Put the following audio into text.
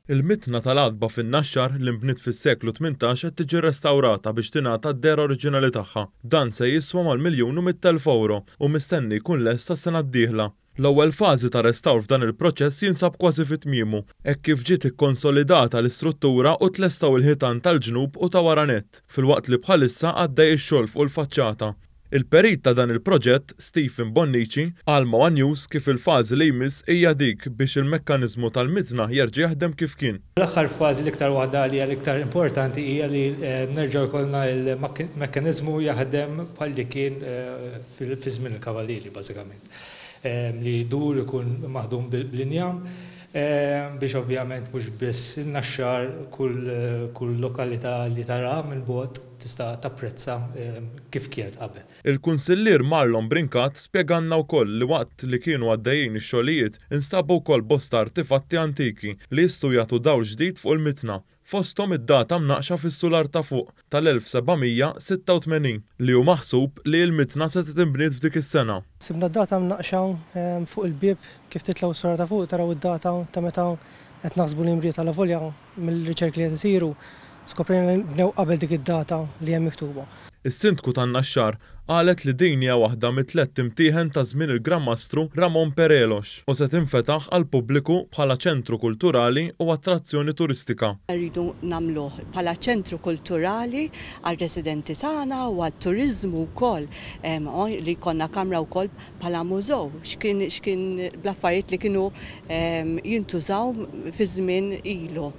Il-mitħna tal-għatba fin-Naxxar li nbniet fis-seklu 18 qed tiġi rrestawrata biex tingħata d-dehra oriġinali tagħha. Dan se jiswa mal-miljun u 100,000 ewro u mistenni jkun lest sas-sena d-dieħla. L-ewwel fażi ta' restawr f'dan il-proċess jinsab kważi fi tmiemu, hekk kif ġiet ikkonsolidata l-istruttura u tlestew il-ħitan tal-ġnub u ta' wara nett, filwaqt li bħalissa għaddej ix-xogħol fuq il-faċċata. Il-perit ta' dan il-proġett, Stephen Bonnici, qal ma' one News kif il-fażi li jmiss hija dik biex il-mekkaniżmu tal-mitna jerġa' jaħdem kif kien. L-aħħar fażi l-iktar waħda li hija l-iktar importanti hija li nerġgħu jkollna l-mekkaniżmu jaħdem bħal li kien fi żmien il-Kavallieri bażikament. Li jdur ikun maħdum bl-injam biex ovvjament mhux biss in-Naxxar kull lokalità li taraha minn bogħod tista' tapprezza kif kienet qabel. Il-Kunsillier Marlon Brincat spjegalna wkoll li waqt li kienu għaddejjin ix-xogħlijiet instabu wkoll bosta artifatti antiki li jistgħu jagħtu dawl ġdid fuq il-mitna, fosthom id-data mnaqqxa fis-sular ta' fuq tal-1786 li hu maħsub li l-mitna setgħet inbniet f'dik is-sena. Sibna d-data mnaqqxa fuq il-bieb kif titlgħu s-sular ta' fuq taraw id-data ta' meta qed naħsbu li nbniet alavolja Mill-riċerki li qed isiru, skoprejna li nbnew qabel dik id-data li hemm miktuba. Is-Sindku tan-Naxxar qalet li din hija waħda mit-tlett imtieħen ta' żmien il-Gran Mastru Ramon Perelox u se tinfetaħ għall-pubbliku bħala ċentru kulturali u attrazzjoni turistika. Rridu nagħmluh bħala ċentru kulturali għar-residenti tagħna u għat-turiżmu wkoll, li jkollna kamra wkoll bħala mużew x'kien x'kien bl-affarijiet li kienu jintużaw fi żmien ilu.